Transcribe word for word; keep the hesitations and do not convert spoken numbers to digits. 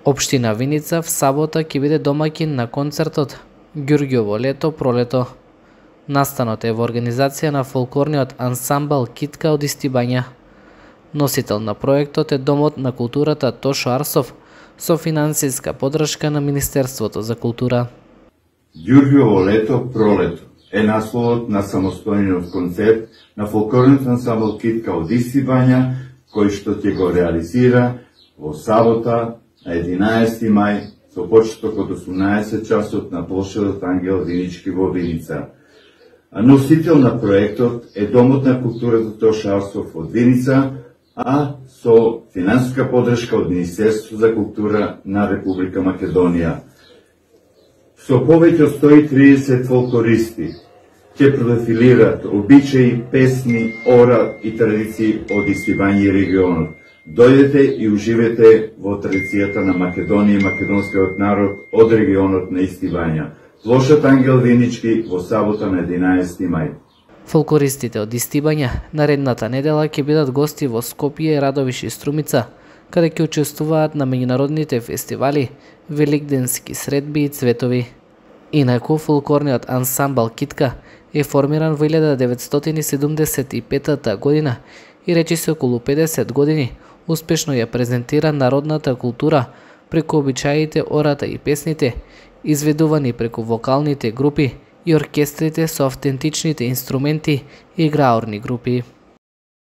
Општина Виница в сабота ќе биде домаќин на концертот Ѓурѓово лето пролето. Настанот е во организација на фолклорниот ансамбл Китка од Истибања. Носител на проектот е Домот на културата Тошо Арсов со финансиска поддршка на Министерството за култура. Ѓурѓово лето пролето е насловот на самостојниот концерт на фолклорниот ансамбл Китка од Истибања, кој што ќе го реализира во сабота на единаесети мај со почеток од осумнаесет часот на плошадот Ангел Винички во Виница. Носител на проектот е Домот на културата Тошо Арсов од Виница, а со финансиска поддршка од Министерството за култура на Република Македонија. Со повеќе од сто и триесет фолклористи ќе продефилираат обичаи, песни, ора и традиции од Истибања и регионот. Дојдете и уживете во традицијата на Македонија и македонскиот народ од регионот на Истибања. Плошад Ангел Винички во сабота на единаесети мај. Фолклористите од Истибања наредната недела ќе бидат гости во Скопје, Радовиш и Струмица, каде ќе учествуваат на меѓународните фестивали, великденски средби и цветови. Инаку фолклорниот ансамбл Китка е формиран во илјада деветстотини седумдесет и петата година и речиси околу педесет години успешно ја презентира народната култура преку обичаите, ората и песните, изведувани преку вокалните групи и оркестрите со автентичните инструменти и играорни групи.